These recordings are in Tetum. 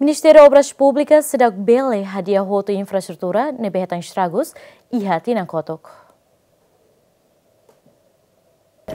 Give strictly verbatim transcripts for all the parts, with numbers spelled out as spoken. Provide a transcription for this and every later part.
Ministériu Obras Públikas seidauk bele hadi'a hotu infraestrutura ne'ebé hetan estragus iha tinan kotuk.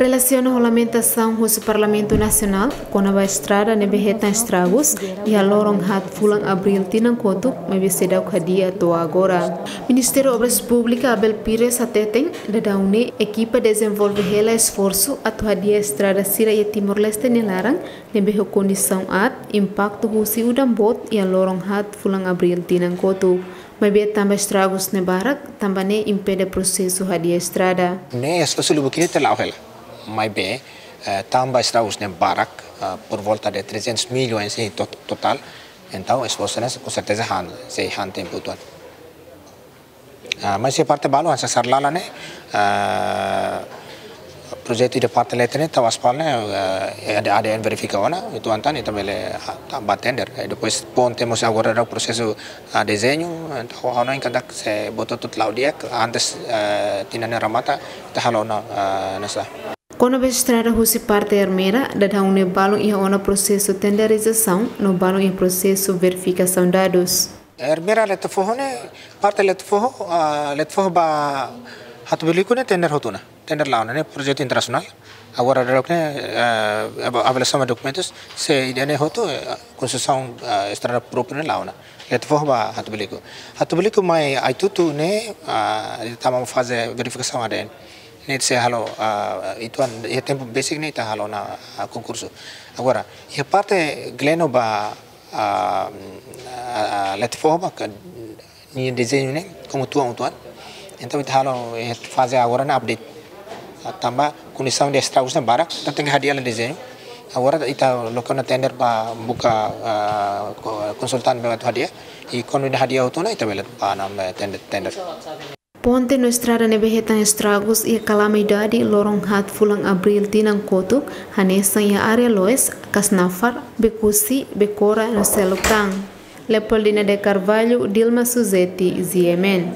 Relasiona ho lamentasaun husi Parlamentu Nasionál kona-ba estrada ne'ebé hetan estragus iha loron haat fulan Abríl tinan kotuk, maibé seidauk hadi'a to'o agora. Ministériu Obras Públikas Abel Pires hateten, daudaun ne'e ekipa dezenvolve hela esforsu atu hadi'a estrada sira iha Timor-Leste nia laran ne'ebé ho kondisaun aat, impaktu husi udan boot iha loron haat fulan Abríl tinan kotuk. Maibé tanba estragus ne'e barak, tanba ne'e impede prosesu hadi'a estrada. Ne'e esforsu lubuk ne'e ita la'o hela. Maibé, eh, tanba estragus ne'e barak, eh, por volta de trezentos milhões em to-, total. Entaun, esforsu ne'e com certeza han, sei han tempu uitoan. Ah, mas iha parte balu hanesan Sarlala ne'e, ah, projetu iha parte leten ne'e tau aspal ne'e, ah, ADN verifika ona, uitoan tan ita bele, ah, tau ba tender. E depois ponte mós agora daudaun prosesu, ah, dezeñu, entaun ha'u hanoin katak se buat hotu-hotu la'o di'ak, antes, ah, tinan ne'e remata, ita halo ona, ah, hanesan. Kona-ba estrada husi parte Ermera, daudaun ne'e balun iha ona prosesu tenderizasaun, no balun iha prosesu verifikasaun dadus. Ermera Letefoho ne'e, parte Letefoho, ah, Letefoho ba Hatubuiliku ne'e tender hotu ona. Tender la'o ona, ne'e projetu internasionál. Agora daudaun ne'e, ah, ava-, avaliasaun ba dokumentus, se ida-ne'e hotu, eh, konstrusaun, ah, estrada própriu ne'e la'o ona. Letefoho ba Hatubuiliku. Hatubuiliku mai Aitutu ne'e, ah, ita tama faze verifikasaun ADN. Ne'e sei halo, ah, uitoan, iha tempu besik ne'e ita halo ona, ah, konkursu. Agora, iha parte Gleno ba, ah, ah, Letefoho ba ka, nia dezeñu ne'e, komu tuan uitoan. Entaun ita halo, eh, faze agora ne'e update. Ah, tanba kondisaun de estragus ne'e barak, entaun tenke hadi'a hela dezeñu. Agora ita loke ona tender ba buka, ah, ko-, konsultante ba atu hadi'a. I kuandu ida hadi'a hotu ona, ita bele ba ona, eh, tender, tender. Ponte no estrada ne'ebé hetan estragus iha kalamidade loron haat fulan Abríl tinan kotuk, hanesan iha área Loes, Kasnafar, Bekusi, Bekora no seluk tan. Leopoldina de Carvalho, Dilma Suzeti, G M N.